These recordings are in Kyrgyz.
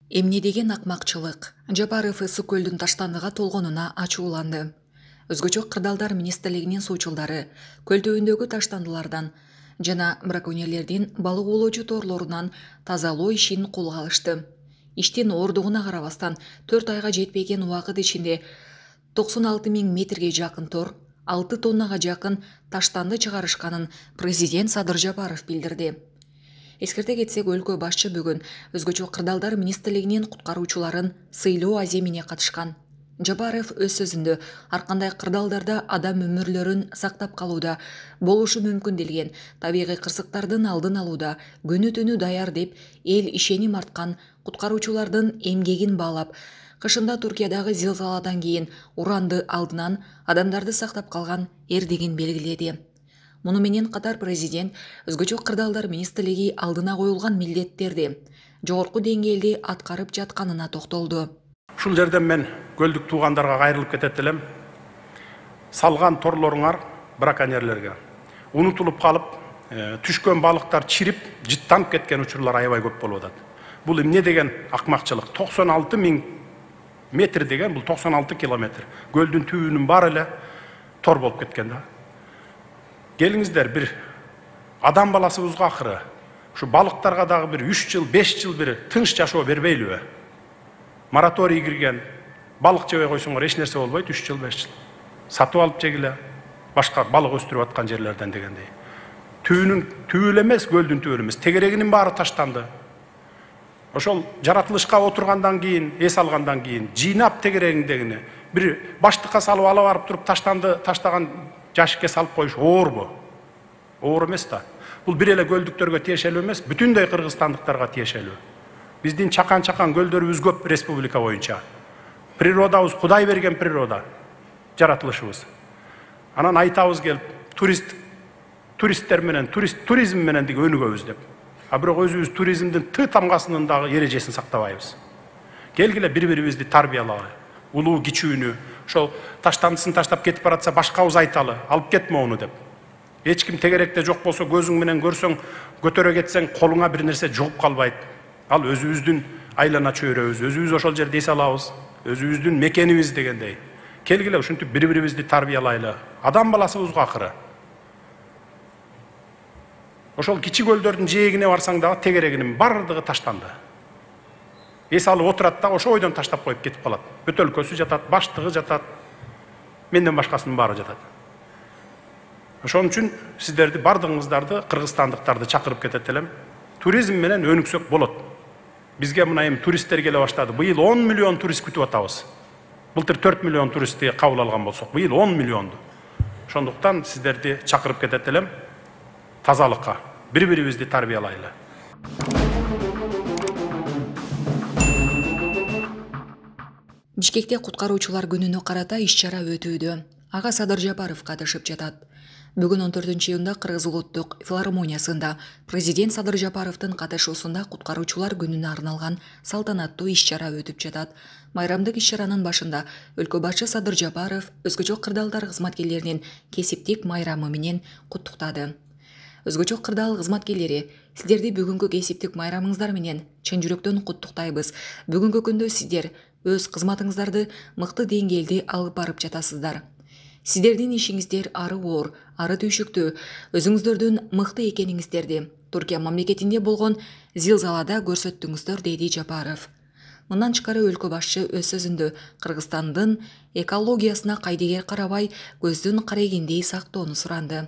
Эмне деген акмакчылык. Жапаров ысык көлдүн таштандыга толгонуна ачууланды. Өзгөчө кырдаалдар министрлигинин суучулдары көл түбүндөгү таштандылардан жана браконьерлердин балык оолоочу торлорунан тазалоо ишин колго алышты. Иштин оордугуна карабастан 4 айга жетпеген убакыт ичинде 96 000 метрге жакын тор, 6 тоннага жакын таштанды чыгарышканын президент Садыр Жапаров билдирди. Эскерте кетсек, өлкө башчы бүгүн өзгөчө кырдаалдар министрлигинин куткаруучуларын сыйлоо аземине катышкан. Жапаров өз сөзүндө ар кандай кырдаалдарда адам өмүрлөрүн сактап калууда болушу мүмкүн делген табигый кырсыктардын алдын алууда күнү түнү даяр деп эл ишеним арткан куткаруучулардын эмгегин баалап, кышында Туркиядагы зилзаладан кийин уранды алдынан адамдарды сактап калган эрдигин белгиледи. Муну менен катар президент өзгөчө кырдаалдар министрлиги алдына коюлган милдеттерди жогорку деңгээлде аткарып жатканына токтолду. Ушул жерден мен көлдүк туугандарга кайрылып кетет элем. Салган торлоруңар браконьерлерге унутулуп калып, түшкөн балыктар чирип, жыттанып кеткен учурлар аябай көп болуп атат. Бул эмне деген акмакчылык? 96 000 метр деген бул 96 километр. Көлдүн түбүнүн баары эле тор болуп кеткен да. Келиңиздер, бир адам баласыбызга акыры ушу балыктарга дагы бир 3 жыл, 5 жыл бир тынч жашоо бербейлиби? Мораторий кирген, балык жебей койсоңор эч нерсе болбойт, 3 жыл, 5 жыл. Сатып алып жегиле, башка балык өстүрүп аткан жерлерден дегендей. Түбү эле эмес, көлдүн түбү эмес, тегерегинин баары таштанды. Ошол жаратылышка отургандан кийин, эс алгандан кийин жыйнап тегерегиндегини бир баштыкка салып ала барып туруп таштаган жашикке салып коюш оорбу? Оор эмес да. Бул бир эле көлдүктөргө тиешелүү эмес, бүтүндөй кыргызстандыктарга тиешелүү. Биздин чакан көлдөрүбүз көп республика боюнча. Природабыз Кудай берген природа, жаратылышыбыз. Анан айтабыз келип, туристтер менен, туризм менен деги өнүгөбүз деп. А бирок өзүбүз туризмдин тамгасынын дагы эрежесин сактабайбыз. Келгиле бири-бирибизди тарбиялайлы. Улуу кичүүнү, ошол таштандысын таштап кетип баратса башкабыз айталы, алып кетме ону деп. Эч ким тегеректе жок болсо көзүң менен көрсөң, көтөрө кетсең колуңа бир нерсе жугуп калбайт. Ал өзүбүздүн айлана чөйрөбүз, өзүбүз ошол жерде эс алабыз, өзүбүздүн мекенибиз дегендей. Келгиле ушинтип бири-бирибизди тарбиялайлы. Адам баласыбызга акыры. Ошол кичи көлдөрдүн жээгине барсаң дагы тегерегинин бардыгы таштанды. Эс алып отурат да ошо ойдон таштап коюп кетип калат. Бөтөлкөсү жатат, баштыгы жатат, менден башкасынын баары жатат. Ошон үчүн сиздерди, бардыгыңыздарды, кыргызстандыктарды чакырып кетет элем. Туризм менен өнүксөк болот. Бизге мына эми туристтер келе баштады. Быйыл 10 миллион турист күтүп атабыз. Былтыр 4 миллион туристти кабыл алган болсок, быйыл 10 миллионду. Ошондуктан сиздерди чакырып кетет элем. Тазалыкка, бири-бирибизди тарбиялайлы. Бишкекте куткаруучулар күнүнө карата иш-чара өтүүдө. Ага Садыр Жапаров катышып жатат. Бүгүн 14-июнда Кыргыз улуттук филармониясында президент Садыр Жапаровдун катышуусунда куткаруучулар күнүнө арналган салтанаттуу иш-чара өтүп жатат. Майрамдык иш-чаранын башында өлкө башчы Садыр Жапаров өзгөчө кырдаалдар кызматкерлеринин кесиптик майрамы менен куттуктады. Өзгөчө кырдаал кызматкерлери, сиздерди бүгүнкү кесиптик майрамыңыздар менен чын жүрөктөн куттуктайбыз. Бүгүнкү күндө сиздер өз кызматыңыздарды мыкты деңгээлде алып барып жатасыздар. Сиздердин ишиңиздер ары оор, ары түйшүктүү, өзүңүздөрдүн мыкты экениңиздерди Туркия мамлекетинде болгон зилзалада көрсөттүңүздөр, деди Жапаров. Мындан тышкары өлкө башчы өз сөзүндө Кыргызстандын экологиясына кайдыгер карабай, көздүн карегиндей сактоону суранды.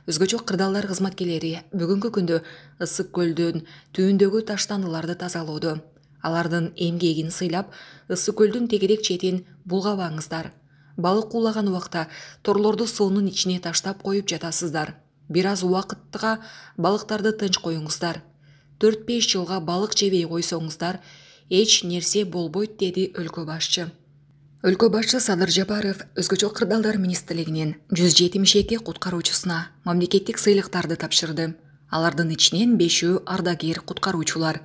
Өзгөчө кырдаалдар кызматкерлери бүгүнкү күндө ысык көлдүн түбүндөгү таштандыларды тазалоодо. Алардын эмгегин сыйлап, ысык көлдүн тегерек четин булгабаңыздар. Балык уулаган убакта торлорду суунун ичине таштап коюп жатасыздар. Бир аз убакытка балыктарды тынч коюңуздар. 4-5 жылга балык жебей койсоңуздар, эч нерсе болбойт, деди өлкө башчы. Өлкө башчы Садыр Жапаров өзгөчө кырдаалдар министрлигинин 172 куткаруучусуна мамлекеттик сыйлыктарды тапшырды. Алардын ичинен 5-өө ардагер куткаруучулар.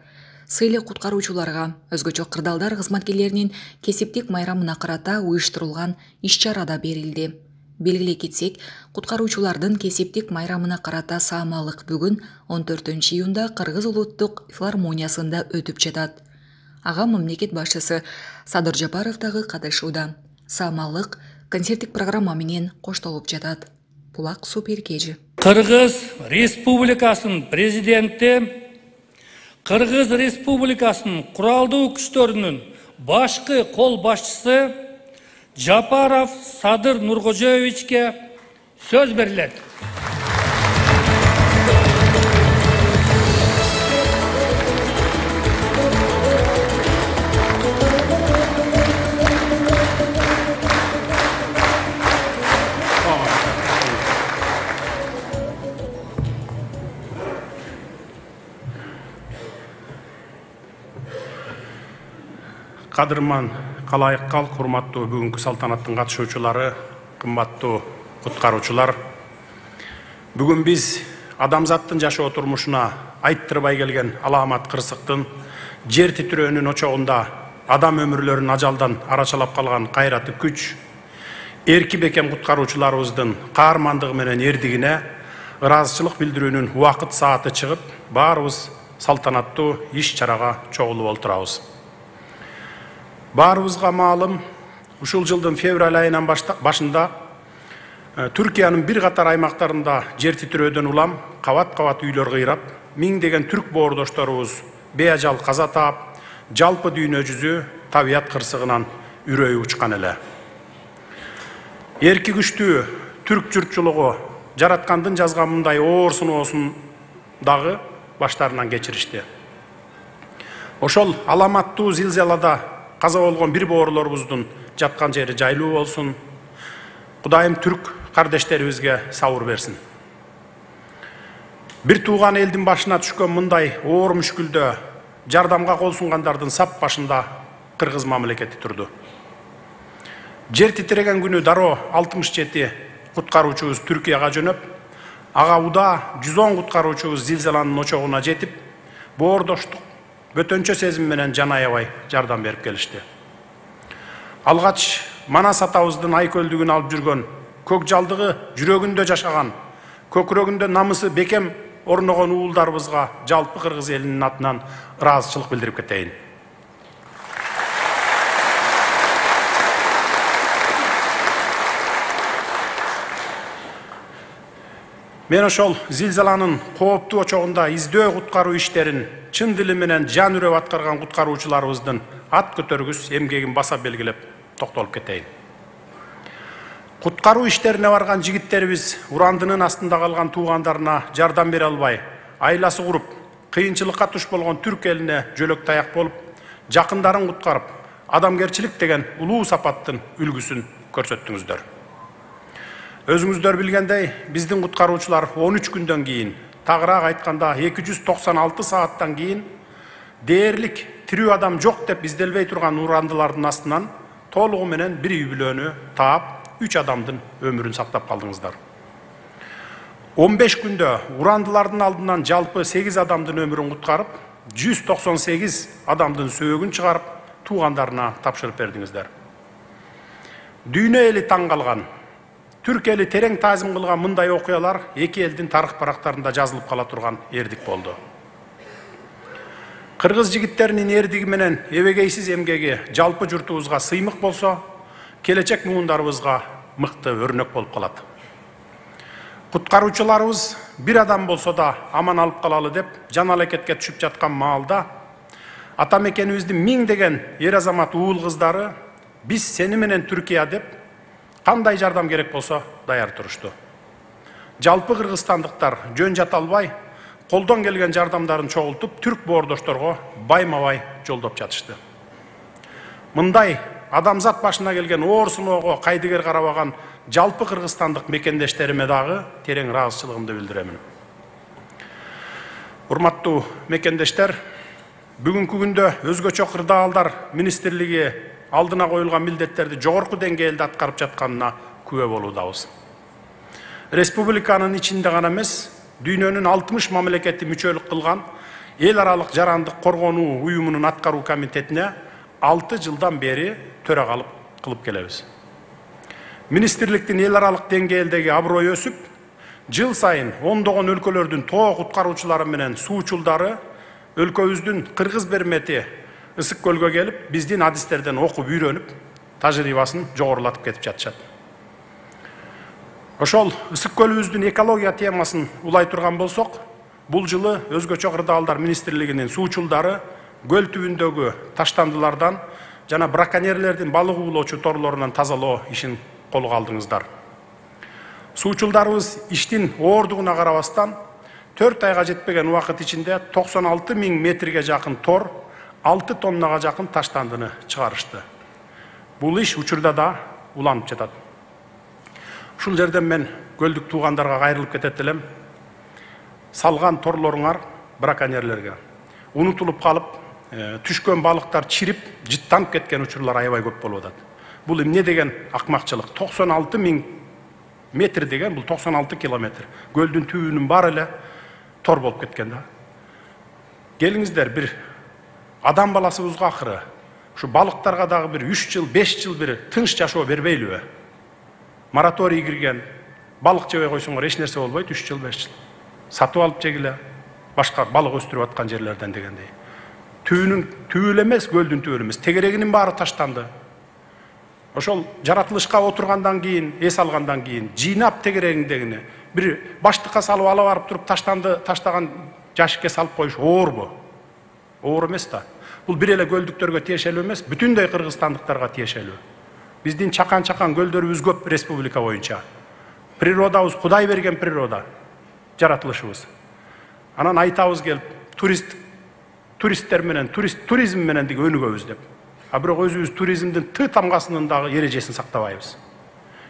Сыйлык куткаруучуларга өзгөчө кырдаалдар кызматкерлеринин кесиптик майрамына карата уюштурулган иш-чарада берилди. Белгилей кетсек, куткаруучулардын кесиптик майрамына карата саамалык бүгүн 14-июнда Кыргыз улуттук филармониясында өтүп жатат. ага мамлекет башчысы Садыр Жапаров дагы катышууда. Самалык концерттик программа менен коштолуп жатат. Булак Суперкежи. Кыргыз Республикасынын президенти Кыргыз Республикасынын куралдуу күчтөрүнүн башкы кол башчысы Жапаров Садыр Нуркожоевичке сөз берилет. Кадырман калайык кал, урматтуу бүгүнкү салтанаттын катышуучулары, кымбаттуу куткаруучулар. Бүгүн биз адамзаттын жашоо турмушуна айттырбай келген аламат кырсыктын, жер титирөөнүн очогунда адам өмүрлөрүн ажалдан арачалап калган кайраты күч, эрки бекем куткаруучуларыбыздын каармандыгы менен эрдигине ыраазычылык билдирүүнүн убакыт сааты чыгып, баарыбыз салтанаттуу иш-чарага чогулуп отурабыз. Баарыбызга маалым, ушул жылдын февраль айынан башында Түркиянын бир катар аймактарында жер титирөөдөн улам кабат-кабат үйлөр кыйрап, миңдеген түрк боордошторубуз беажал каза таап, жалпы дүйнө жүзү табият кырсыгынан үрөйү учкан эле. Эрки күчтүү түрк журтчулугу жараткандын жазган мындай оор сыноосун дагы баштарынан кечиришти. Ошол аламаттуу зилзалада каза болгон бир боорлорубуздун жаткан жери жайлуу болсун. Кудайым түрк кардештерибизге сабыр берсин. Бир тууган элдин башына түшкөн мындай оор мүшкүлдө жардамга кол сунгандардын сап башында кыргыз мамлекети турду. Жер титиреген күнү дароо 67 куткаруучубуз Түркияга жөнөп, ага уда 110 куткаруучубуз зилзаланын очогуна жетип, боордоштук бөтөнчө сезим менен жан аябай жардам берип келишти. Алгач Манас атабыздын айкөлдүгүн алып жүргөн, көк жалдыгы жүрөгүндө жашаган, көкүрөгүндө намысы бекем орногон уулдарыбызга жалпы кыргыз элинин атынан ыраазычылык билдирип кетейин. Мен ошол зилзаланын кооптуу очогунда издөө куткаруу иштерин чын дили менен жан үрөп аткарган куткаруучуларыбыздын ат көтөргүс эмгегин баса белгилеп токтолуп кетейин. Куткаруу иштерине барган жигиттерибиз урандынын астында калган туугандарына жардам бере албай, айласы куруп, кыйынчылыкка туш болгон түрк элине жөлөк таяк болуп, жакындарын куткарып, адамгерчилик деген улуу сапаттын үлгүсүн көрсөттүңүздөр. Өзүңүздөр билгендей, биздин куткаруучулар 13 күндөн кийин, тагыраак айтканда 296 сааттан кийин дээрлик тирүү адам жок деп изделбей турган урандылардын астынан толугу менен бир үй бүлөнү таап, 3 адамдын өмүрүн сактап калдыңыздар. 15 күндө урандылардын алдынан жалпы 8 адамдын өмүрүн куткарып, 198 адамдын сөөгүн чыгарып, туугандарына тапшырып бердиңиздер. Дүйнө эли таң калган, түрк эли терең таазим кылган мындай окуялар эки элдин тарых барактарында жазылып кала турган эрдик болду. Кыргыз жигиттеринин эрдиги менен эбегейсиз эмгеги жалпы журтубузга сыймык болсо, келечек муундарыбызга мыкты өрнөк болуп калат. Куткаруучуларыбыз бир адам болсо да аман алып калалы деп жан алекетке түшүп жаткан маалда ата мекенибиздин миңдеген эр азамат уул кыздары биз сени менен Түркия деп кандай жардам керек болсо даяр турушту. Жалпы кыргызстандыктар жөн жата албай, колдон келген жардамдарын чогултуп, түрк боордошторго байма-бай жолдоп жатышты. Мындай адамзат башына келген оор сыноого кайдыгер карабаган жалпы кыргызстандык мекендештериме дагы терең ыраазычылыгымды билдиремин. Урматтуу мекендештер, бүгүнкү күндө өзгөчө кырдаалдар министрлиги алдына коюлган милдеттерди жогорку деңгээлде аткарып жатканына күбө болуудабыз. Республиканын ичинде гана эмес, дүйнөнүн 60 мамлекети мүчөлүк кылган эл аралык жарандык коргонуу уюмунун аткаруу комитетине 6 жылдан бери төрагалык кылып келебиз. Министрликтин эл аралык деңгээлдеги аброю өсүп, жыл сайын ондогон өлкөлөрдүн тоо куткаруучулары менен суучулдары өлкөбүздүн кыргыз бермети Ысык көлгө келип, биздин адистерден окуп үйрөнүп, тажрыйбасын жогорулатып кетип жатышат. Ошол ысык көлүбүздүн экология темасын улай турган болсок, бул жылы өзгөчө кырдаалдар министрлигинин суучулдары көл түбүндөгү таштандылардан жана браконьерлердин балык уулоочу торлорунан тазалоо ишин колго алдыңыздар. Суучулдарыбыз иштин оордугуна карабастан 4 айга жетпеген убакыт ичинде 96 000 метрге жакын тор, 6 тоннага жакын таштандыны чыгарышты. Бул иш учурда да уланып жатат. Ушул жерден мен көлдүк туугандарга кайрылып кетет элем. Салган торлоруңар браконьерлерге унутулуп калып, түшкөн балыктар чирип, жыттанып кеткен учурлар аябай көп болуп атат. Бул эмне деген акмакчылык? 96 000 метр деген бул 96 километр. Көлдүн түбүнүн баары эле тор болуп кеткен да. Келиңиздер, бир адам баласыбызга акыры ушу балыктарга дагы бир 3 жыл, 5 жыл бир тынч жашоо бербейлиби? Мораторий кирген, балык жебей койсоңор эч нерсе болбойт, 3 жыл, 5 жыл. Сатып алып жегиле, башка балык өстүрүп аткан жерлерден дегендей. Түбү эле эмес, көлдүн түбү эмес, тегерегинин баары таштанды. Ошол жаратылышка отургандан кийин, эс алгандан кийин жыйнап тегерегиңдегини бир баштыкка салып ала барып туруп таштаган жашикке салып коюш оорбу? Оор эмес да. Бул бир эле көлдүктөргө тиешелүү эмес, бүтүндөй кыргызстандыктарга тиешелүү. Биздин чакан-чакан көлдөрүбүз көп республика боюнча. Природабыз Кудай берген природа, жаратылышыбыз. Анан айтабыз келип, туристтер менен, туризм менен деги өнүгөбүз деп. А бирок өзүбүз туризмдин тамгасынын дагы эрежесин сактабайбыз.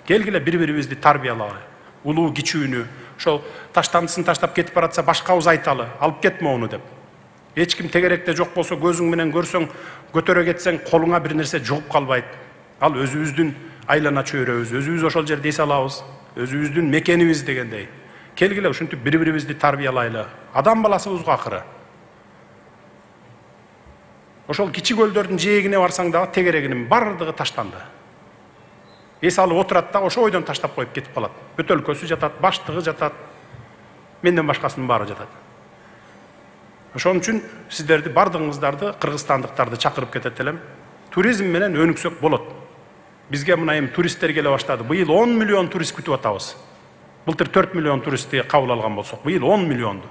Келгиле бири-бирибизди тарбиялайлы. Улуу кичүүнү, ошол таштандысын таштап кетип баратса башкабыз айталы, алып кетме ону деп. Эч ким тегеректе жок болсо көзүң менен көрсөң, көтөрө кетсең колуңа бир нерсе жугуп калбайт. Ал өзүбүздүн айлана чөйрөбүз, өзүбүз ошол жерде эс алабыз, өзүбүздүн мекенибиз дегендей. Келгиле ушинтип бири-бирибизди тарбиялайлы. Адам баласыбызга акыры. Ошол кичи көлдөрдүн жээгине барсаң дагы тегерегинин бардыгы таштанды. Эс алып отурат да ошо ойдон таштап коюп кетип калат. Бөтөлкөсү жатат, баштыгы жатат, менден башкасынын баары жатат. Ошон үчүн сиздерди бардыгыңыздарды, кыргызстандыктарды чакырып кетет элем. Туризм менен өнүксөк болот. Бизге мына эми туристтер келе баштады. Быйыл 10 миллион турист күтүп атабыз. Былтыр 4 миллион туристти кабыл алган болсок, быйыл 10 миллионду.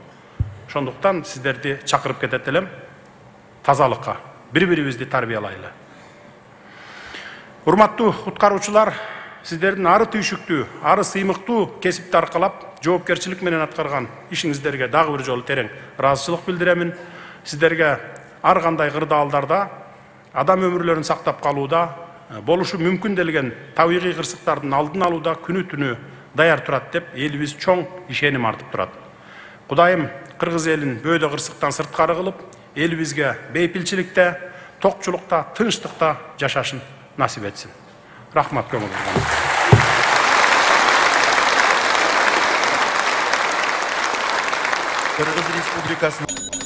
Ошондуктан сиздерди чакырып кетет элем. Тазалыкка, бири-бирибизди тарбиялайлы. Урматтуу куткаруучулар, сиздердин ары түйшүктүү, ары сыймыктуу кесипти аркалап, жоопкерчилик менен аткарган ишиңиздерге дагы бир жолу терең ыраазычылык билдиремин. Сиздерге ар кандай кырдаалдарда адам өмүрлөрүн сактап калууда, болушу мүмкүн делген табигый кырсыктардын алдын алууда күнү-түнү даяр турат деп элибиз чоң ишеним артып турат. Кудайым кыргыз элин бөөдө кырсыктан сырткары кылып, элибизге бейпилчиликте, токчулукта, тынчтыкта жашашын насип этсин. Рахмат көңүлүңүзгө. Кыргыз Республикасынын